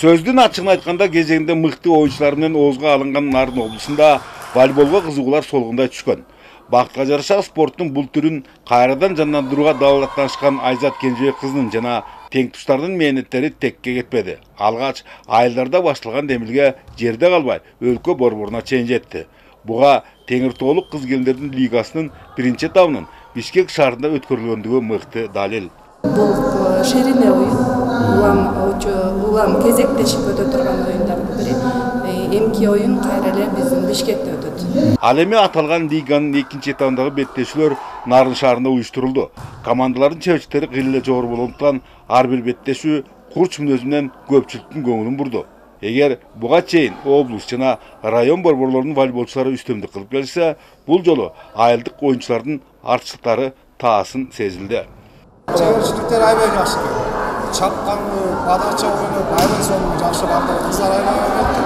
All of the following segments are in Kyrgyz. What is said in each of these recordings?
Сөздүн ачыгын айтканда кезегинде мыкты оюнчулар менен оозго алынган Нарын облусунда волейболго кызыгуулар солгундай түшкөн. Бактка жараша спорттун бул түрүн кайрадан жандандырууга далааттанышкан Айзат Кенжебек кызынын жана теңтуштарынын мээнеттери текке кетпеди. Алгач айылдарда башталган демилге жерде калбай өлкө борборуна чейин жетти. Буга Теңир Тоолук кыз-келиндердин лигасынын биринчи этабынын Бишкек шаарында өткөрүлгөндүгү мыкты далил. Бул шерине оюн, улам кезектешип өтө турган оюндардын бири. Эмки оюн кайра эле биздин Бишкекте өтөт. Ал эми аталган лиганын экинчи этабындагы беттешүүлөр Нарын шаарында уюштурулду. Командалардын чеберчиликтери кыйла жогору болгондуктан ар бир беттешүү курч мүнөзү менен көпчүлүктүн көңүлүн бурду. Эгер буга чейин облус жана район борборлорунун волейболчулары үстөмдүк кылып келсе, бул жолу айылдык оюнчулардын артчылыктары таасын сезилди. Чеберчиликтер аябай жакшы. Чапканды, подача ойноп, аябай сонун жакшы барды. Кыздар аябай ойнопту.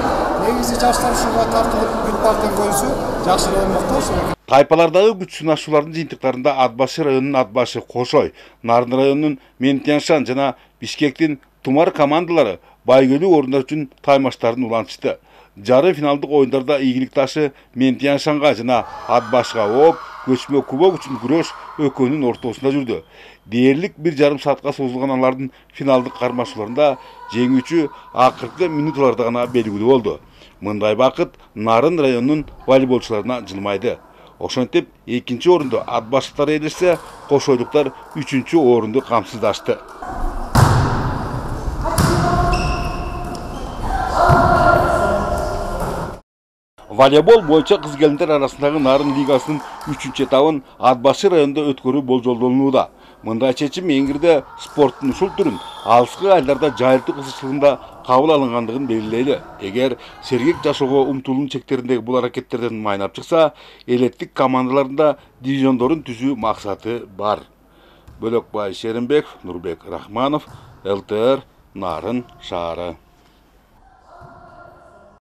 Негизи жаштар ушуга тартылып, бүт партияны көрсө, жакшы ойномокто ошо. Тайпалардагы күч сынашуулардын жыйынтыктарында Атбашы районунун Атбашы Кошой, Нарын районунун Ментяншан жана Бишкектин Тумар командалары байгөлүү орундар үчүн таймаштарын улантышты. Жары финалдык оюндарда ийгилик ташы Ментяншанга жана Атбашыга ооп, көчмө кубок үчүн күрөш экөөнүн ортосунда жүрдү. Дээрлик 1,5 саатка созулган алардын финалдык кармашууларында жеңүүчү акыркы минуталарда гана белгилүү болду. Мындай бакыт Нарын районунун волейболчуларына жылмайды. Ошентип, экинчи орунду Атбашыктар ээлешсе, кошойлуктар үчүнчү орунду камсыздашты. Волейбол боюнча кыз-келиндер арасындагы Нарын лигасынын 3-чү этабын Атбашы районунда өткөрүү болжолдонууда. Мындай чечим эңирде спорттун ушул түрүн алыскы айылдарда жайылтуу кызыкчылыгында кабыл алынгандыгын белгилейли. Эгер сергек жашоого умтулуунун чектериндеги бул аракеттерден майнап чыкса, элеттик командаларында дивизиондорун түзүү максаты бар. Бөлөкбай Шеримбеков, Нурбек Рахманов, ЛТР, Нарын шаары.